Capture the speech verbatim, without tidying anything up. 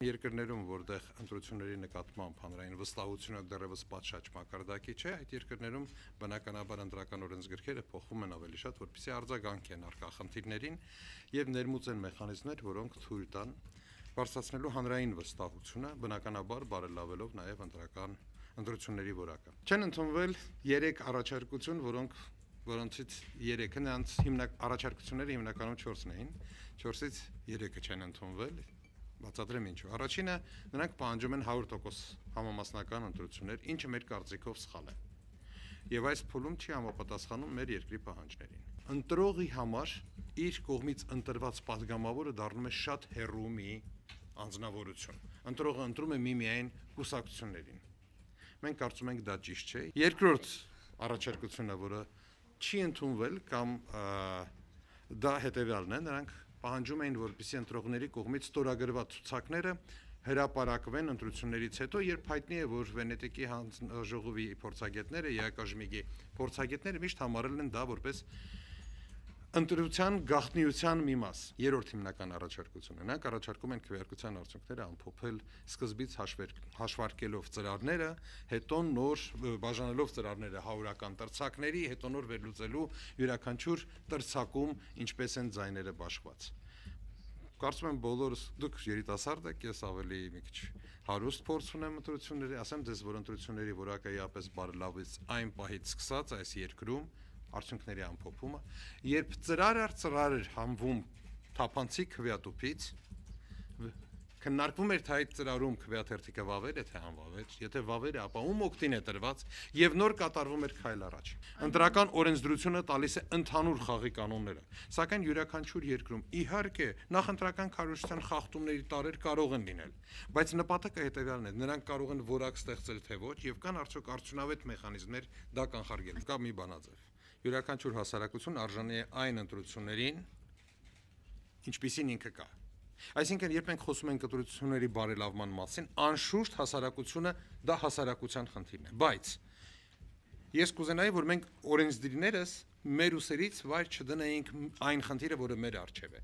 Երկրներում, որտեղ ընտրությունների նկատմամբ հանրային վստահությունը դեռևս պատշաճ մակարդակի չէ, այդ երկրներում բնականաբար ընտրական օրենսգրքերը փոխվում են ավելի շատ, որպեսզի արձագանքեն առկա խնդիրներին եւ ներմուծեն մեխանիզմներ, որոնք թույլ տան բարձրացնելու հանրային վստահությունը, բնականաբար բարելավելով նաեւ ընտրական ընտրությունների որակը։ Չեն ընդունվել երեք առաջարկություն, որոնք որոնցից երեքը նրանց հիմնական առաջարկությունները հիմնականում չորսն էին, չորսից երեքը չեն ընդունվել, բացատրեմ ինչու։ Առաջինը նրանք պահանջում են հարյուր տոկոս համամասնական ընտրություններ, ինչը մեր կարծիքով սխալ է։ Եվ այս փուլում չի համապատասխանում մեր երկրի պահանջներին։ Ընտրողի համար իր կողմից ընտրված падգամավորը դառնում է շատ հեռու մի անձնավորություն։ Ընտրողը ընտրում է միմիայն կուսակցություններին։ Մենք կարծում ենք դա ճիշտ չէ։ Երկրորդ առաջարկությունը, որը չի ընդունվել կամ դա հետևյալն է, նրանք պահանջում էին, որպեսզի ընտրողների կողմից ստորագրված ցուցակները հրապարակվեն ընտրություններից հետո, երբ հայտնի է, որ Վենետիկի հանձնաժողովի փորձագետները, ԵԱԿ-ի փորձագետները միշտ համարել են դա որպես ընտրության գաղտնիության մի մաս։ Երրորդ հիմնական առաջարկությունը, նրանք առաջարկում են քվեարկության արդյունքները ամփոփել սկզբից հաշվարկելով ծրարները, հետո նոր բաժանելով ծրարները հարյուրական տրցակների, հետո նոր վերլուծելու յուրաքանչյուր տրցակում ինչպես են ձայները բաշխված։ Կարծում եմ բոլորս դուք երիտասարդ եք, ես ավելի մի քիչ հարուստ փորձ ունեմ ընտրությունների, ասեմ ձեզ, որ ընտրությունների որակը իապես բարելավեց այն պահից սկսած այս երկրում արդյունքների ամփոփումը, երբ ծրար առ ծրար էր համվում թափանցիկ քվեատուփից, քննարկվում էր թե այդ ծրարում քվեաթերթիկը վավեր է թե անվավեր, եթե վավեր է, ապա ում օգտին է տրված եւ նոր կատարվում էր քայլ առաջ։ Ընտրական օրենսդրությունը տալիս է ընդհանուր խաղի կանոնները, սակայն յուրաքանչյուր երկրում իհարկե նախընտրական քարոզչության խախտումների տարեր կարող են լինել, բայց նպատակը հետեւյալն է, նրանք կարող են որակ ստեղծել թե ոչ եւ կան արդյոք արդյունավետ մեխանիզմներ դա կանխարգելել։ Կա մի բանաձև։ Յուրաքանչյուր հասարակություն արժանի է այն ընտրություններին, ինչպիսին ինքը կա։ Այսինքն, երբ մենք խոսում ենք ընտրությունների բարելավման մասին, անշուշտ հասարակությունը դա հասարակության խնդիրն է, բայց ես կուզենայի, որ մենք օրենսդիրներս մեր ուսերից վայր չդնեինք այն խնդիրը, որը մեր առջև է։